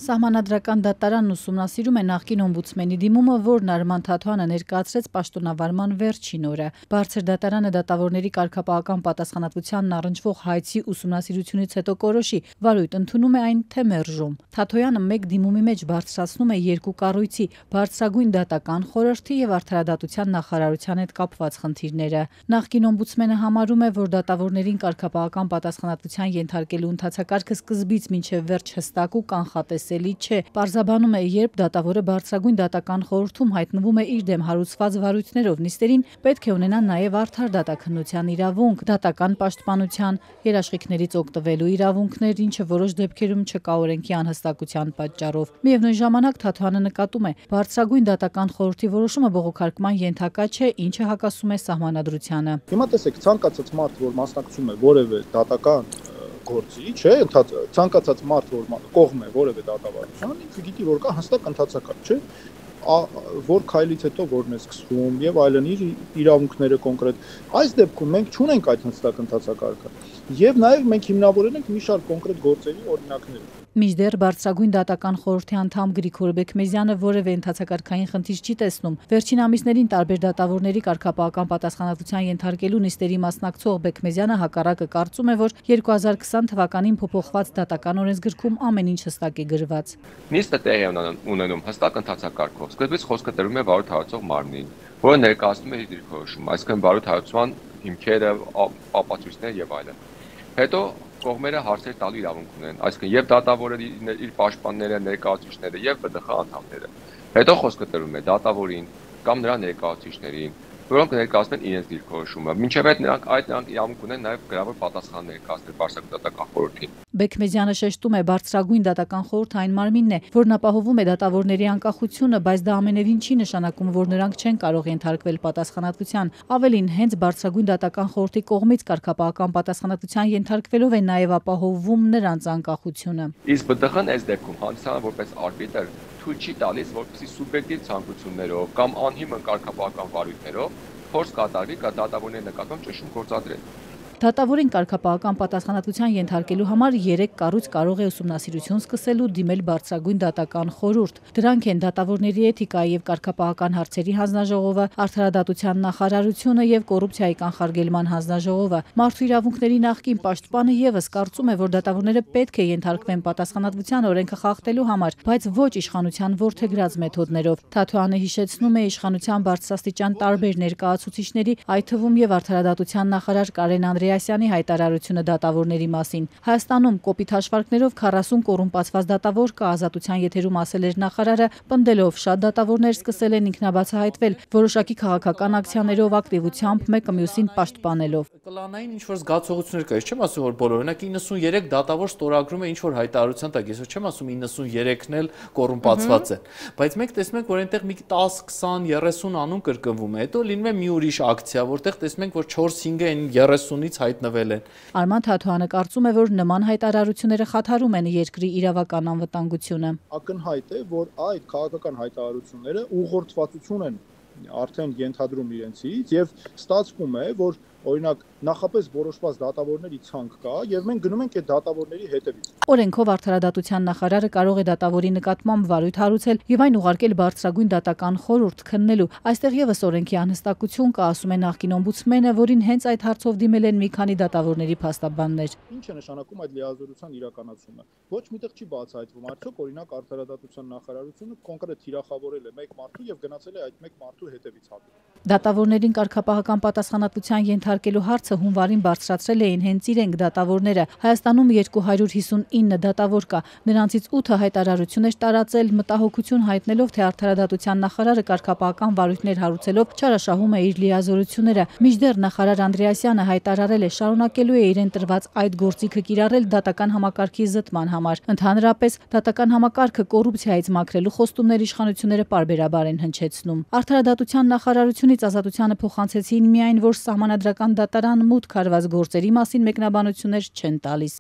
Սահմանադրական դատարանն ուսումնասիրում է նախկին օմբուդսմենի դիմումը, որն Արման Թաթոյանը ներկայացրեց պաշտոնավարման վերջին օրը։ Բարձր դատարանը դատավորների կարգապահական պատասխանատվությանն առնչվող հայցի ուսումնասիրությունից հետո կորոշի, վարույթ ընդունում է այն, թե մերժում։ Թաթոյանը մեկ դիմումի մեջ բարձրացնում է երկու կառույցի՝ Բարձրագույն դատական խորհրդի եւ Արդարադատության նախարարության հետ կապված խնդիրները։ Նախկին օմբուդսմենը համարում է, որ դատավորներին կարգապահական պատասխանատվության ենթարկելու ընթացակարգը սկզբից մինչև վերջ հստակ ու կանխատեսելի չէ։ Պարզաբանում է, երբ դատավորը Բարձրագույն դատական խորհրդում հայտնվում է իր դեմ հարուցված վարույթներով նիստերին, պետք է ունենա նաև արդար դատաքննության իրավունք, դատական պաշտպանության, երաշխիքներից օգտվելու իրավունքներ, ինչը որոշ դեպքերում չկա օրենքի անհստակության պատճառով։ Միևնույն ժամանակ Թաթոյանը նկատում է, Բարձրագույն դատական խորհրդի որոշումը բողոքարկման ենթակա չէ, ինչը հակասում է սահմանադրությանը։ Հիմա տեսեք, ցանկացած մարդ, որ մասնակցում է որևէ դատական գործի, չէ, ցանկացած մարդ, որ կողմ է որևէ դատավարության, ինքը գիտի, որ կա հստակ ընթացակարգ, չէ, որ քայլից հետո որն է սկսվում եւ այլն իր իրավունքները կոնկրետ։ Այս դեպքում մենք չունենք այդ հստակ ընթացակարգը եւ նաեւ մենք հիմնավորել ենք մի շարք կոնկրետ գործերի օրինակներ։ Մինչդեռ Բարձրագույն դատական խորհրդի անդամ Գրիգոր Բեկմեզյանը որևէ ընթացակարգային խնդիր չի տեսնում։ Վերջին ամիսներին տարբեր դատավորների կարգապահական պատասխանատվության ենթարկելու նիստերի մասնակցող Բեկմեզյանը հակառակը կարծում է, որ 2020 թվականին փոփոխված դատական օրենսգրքում ամեն ինչ հստակ է գրված։ Նիստը տեղի ունենում հստակ ընթացակարգով։ Սկզբից խոսքը տրվում է վարույթ հարուցող մարմնին, որը ներկայացնում է իր դիրքորոշումը, այսինքն վարույթ հարուցման հիմքերը, ապացույցները եւ այլն։ Հետո կողմերը հարցեր տալու իրավունք ունեն, այսինքն եւ դատավորը իր պաշտպանները, ներկայացուցիչները եւ ԲԴԽ անդամները։ Հետո խոսքը տրվում է դատավորին կամ նրա ներկայացուցիչներին, որոնք ներկայացնեն իրենց դիրքորոշումը։ Մինչև այդ նրանք իրավունք ունեն նաեւ գրավոր պատասխան ներկայացնել Բարձրագույն դատական խորհրդին։ Բեկմեզյանը շեշտում է, Բարձրագույն դատական խորհուրդը այն մարմինն է, որն ապահովում է դատավորների անկախությունը, բայց դա ամենևին չի նշանակում, որ նրանք չեն կարող ենթարկվել պատասխանատվության։ Ավելին, հենց Բարձրագույն դատական խորհրդի կողմից կարգապահական պատասխանատվության ենթարկվելով է նաև ապահովում նրանց անկախությունը։ Իսկ ԲԴԽ-ն այս դեպքում հանդիսանում որպես արբիտր թույլ չի տալիս, որպեսզի սուբյեկտիվ ցանկություններով կամ անհիմն կարգապահական վարույթներով փորձ կատարվի դատավորների նկատմամբ ճնշում գործադրել։ Դատավորին կարգապահական պատասխանատվության ենթարկելու համար 3 կառույց կարող է ուսումնասիրություն սկսել ու դիմել Բարձրագույն դատական խորհուրդ։ Դրանք են դատավորների էթիկայի եւ կարգապահական հարցերի հանձնաժողովը, Արդարադատության նախարարությունը եւ կոռուպցիայի կանխարգելման հանձնաժողովը։ Մարդու իրավունքների նախկին պաշտպանը եւս կարծում է, որ դատավորները պետք է ենթարկվեն պատասխանատվության օրենքը խախտելու համար, բայց ոչ իշխանության որդեգրած մեթոդներով։ Թաթոյանը հիշեցնում է իշխանության բարձրաստիճան տարբեր ներկայացուցիչների, այդ թվում եւ Արդարադատության նախարար Կարեն Անդրեասյանի հայտարարությունը դատավորների մասին։ Հայաստանում կոպիտ հաշվարկներով 40 կոռումպացված դատավոր կա, Ազատության եթերում ասել էր նախարարը, պնդելով շատ դատավորներ սկսել են ինքնաբացահայտվել, որոշակի քաղաքական ակցիաներով, ակտիվությամբ, մեկը մյուսին պաշտպանելով։ Կլանային ինչ-որ զգացողություններ կա, չեմ ասում, որ բոլորը, օրինակ 93 դատավոր ստորագրում է ինչ-որ հայտարարության տակ, ես չեմ ասում 93-ն էլ կոռումպացված են, բայց մենք տեսնում ենք, որ այնտեղ մի 10, 20, 30 անուն կրկնվում է, հետո լինում է մի ուրիշ ակցիա, որտեղ տեսնում ենք, որ 4-5-ը այն 30-ից հայտնվել են։ Արման Թաթոյանը կարծում է, որ նման հայտարարությունները խաթարում են երկրի իրավական անվտանգությունը։ Ակնհայտ է, որ այդ քաղաքական հայտարարությունները ուղղորդվածություն են արդեն ենթադրում իրենցից եւ ստացվում է, որ օրինակ նախապես որոշված դատավորների ցանկ կա եւ մենք գնում ենք այդ դատավորների հետևից։ Օրենքով Արդարադատության նախարարը կարող է դատավորի նկատմամբ վարույթ հարուցել եւ այն ուղարկել Բարձրագույն դատական խորհուրդ քննելու։ Այստեղ եւս օրենքի անհստակություն կա, ասում է նախկին օմբուդսմենը, որին հենց այդ հարցով դիմել են մի քանի դատավորների փաստաբաններ։ Ինչ է նշանակում այդ լիազորության իրականացումը։ Ոչ միտեղ չի բացահայտվում, արդյոք օրինակ Արդարադատության նախարարությունը կոնկրետ թիրախավորել է մեկ մարդու եւ գնացել է այդ մեկ մարդու հետևից հատուկ։ Դատավորներին կարգապահական պատասխանատվության ենթարկելու հարցը հունվարին բարձրացրել էին հենց իրենք դատավորները։ Հայաստանում 259 դատավոր կա, նրանցից 8-ը հայտարարություն էր տարածել, մտահոգություն հայտնելով, թե Արդարադատության նախարարը կարգապահական վարույթներ հարուցելով չարաշահում է իր լիազորությունները։ Մինչդեռ նախարար Անդրեասյանը հայտարարել է, շարունակելու է իրեն տրված այդ գործիքը կիրառել դատական համակարգի զտման համար։ Ընդհանրապես, դատական համակարգը կոռուպցիայից մաքրելու խոստումներ իշխանությունները պարբերաբար են հնչեցնում։ Արդարադատության նախարարությունից Ազատությանը փոխանցեցին միայն, որ սահմանադրական դատարան մուտք հարված գործերի մասին մեկնաբանություններ չեն տալիս։